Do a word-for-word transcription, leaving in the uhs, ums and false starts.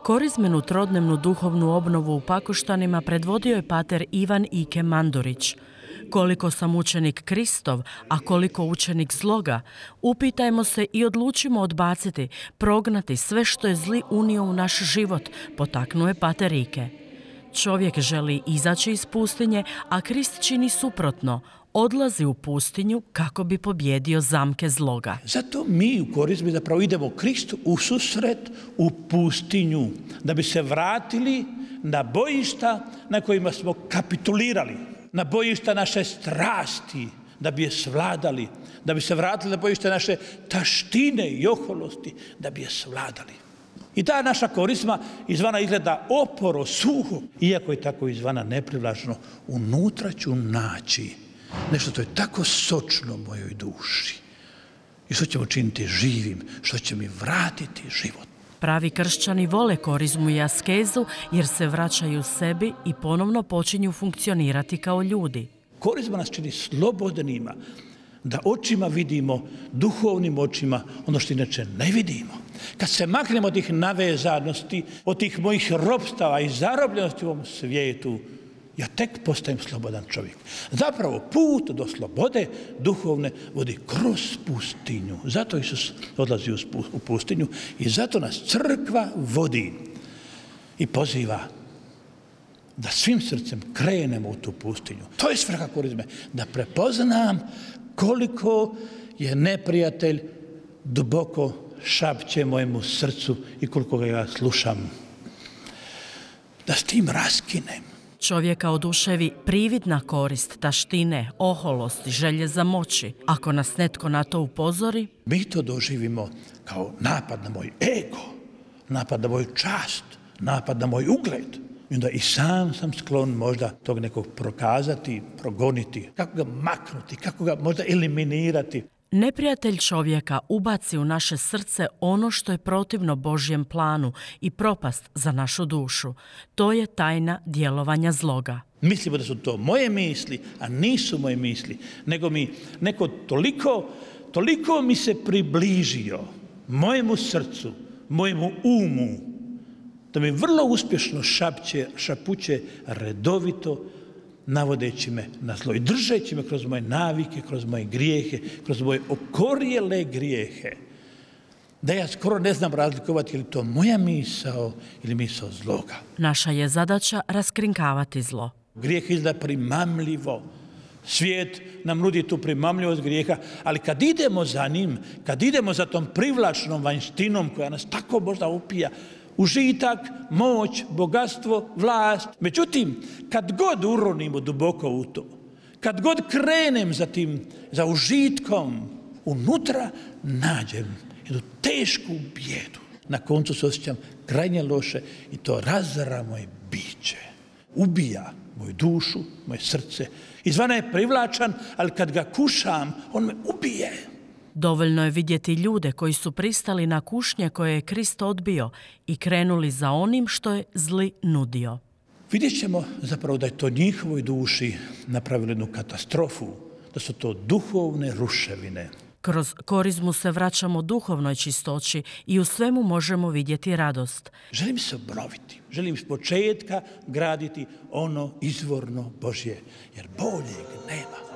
Korizmenu trodnevnu duhovnu obnovu u Pakoštanima predvodio je pater Ivan Ike Mandurić. Koliko sam učenik Kristov, a koliko učenik zloga, upitajmo se i odlučimo odbaciti, prognati sve što je zli unio u naš život, potaknuje pater Ike. Čovjek želi izaći iz pustinje, a Krist čini suprotno. Odlazi u pustinju kako bi pobjedio zamke zloga. Zato mi u korizmi zapravo idemo Kristu u susret u pustinju, da bi se vratili na bojišta na kojima smo kapitulirali, na bojišta naše strasti, da bi je svladali, da bi se vratili na bojišta naše taštine i oholosti, da bi je svladali. I ta naša korizma izvana izgleda oporo, suho, iako je tako izvana neprivlačno, unutra ću naći nešto to je tako sočno mojoj duši i što ćemo činiti živim, što će mi vratiti život. Pravi kršćani vole korizmu i askezu jer se vraćaju sebi i ponovno počinju funkcionirati kao ljudi. Korizma nas čini slobodnima, da očima vidimo, duhovnim očima, ono što inače ne vidimo. Kad se maknemo od tih navezanosti, od tih mojih ropstava i zarobljenosti u ovom svijetu, ja tek postajem slobodan čovjek. Zapravo put do slobode duhovne vodi kroz pustinju. Zato Isus odlazi u pustinju i zato nas crkva vodi i poziva da svim srcem krenemo u tu pustinju. To je svrha korizme, da prepoznam koliko je neprijatelj duboko šapće mojemu srcu i koliko ga ja slušam. Da s tim raskinem. Čovjeka oduševi prividna korist, taštine, oholosti, želje za moći. Ako nas netko na to upozori, mi to doživimo kao napad na moj ego, napad na moju čast, napad na moj ugled. I onda i sam sam sklon možda tog nekog prokazati, progoniti, kako ga maknuti, kako ga možda eliminirati. Neprijatelj čovjeka ubaci u naše srce ono što je protivno Božjem planu i propast za našu dušu. To je tajna djelovanja zloga. Mislimo da su to moje misli, a nisu moje misli, nego mi neko toliko, toliko mi se približio mojemu srcu, mojemu umu, da mi vrlo uspješno šapće, šapuće redovito, navodeći me na zlo i držeći me kroz moje navike, kroz moje grijehe, kroz moje okorjele grijehe. Da ja skoro ne znam razlikovati je li to moja misao ili misao zloga. Naša je zadaća raskrinkavati zlo. Grijeh izgleda primamljivo. Svijet nam nudi tu primamljivost grijeha, ali kad idemo za njim, kad idemo za tom privlačnom vanjštinom koja nas tako možda upija, užitak, moć, bogatstvo, vlast. Međutim, kad god uronimo duboko u to, kad god krenem za tim, za užitkom, unutra nađem jednu tešku bijedu. Na koncu se osjećam krajnje loše i to razara moje biće. Ubija moju dušu, moje srce. Izvana je privlačan, ali kad ga kušam, on me ubije. Dovoljno je vidjeti ljude koji su pristali na kušnje koje je Krist odbio i krenuli za onim što je zli nudio. Vidjet ćemo zapravo da je to njihovoj duši napravilo jednu katastrofu, da su to duhovne ruševine. Kroz korizmu se vraćamo duhovnoj čistoći i u svemu možemo vidjeti radost. Želim se obnoviti, želim s početka graditi ono izvorno Božje, jer boljeg nema.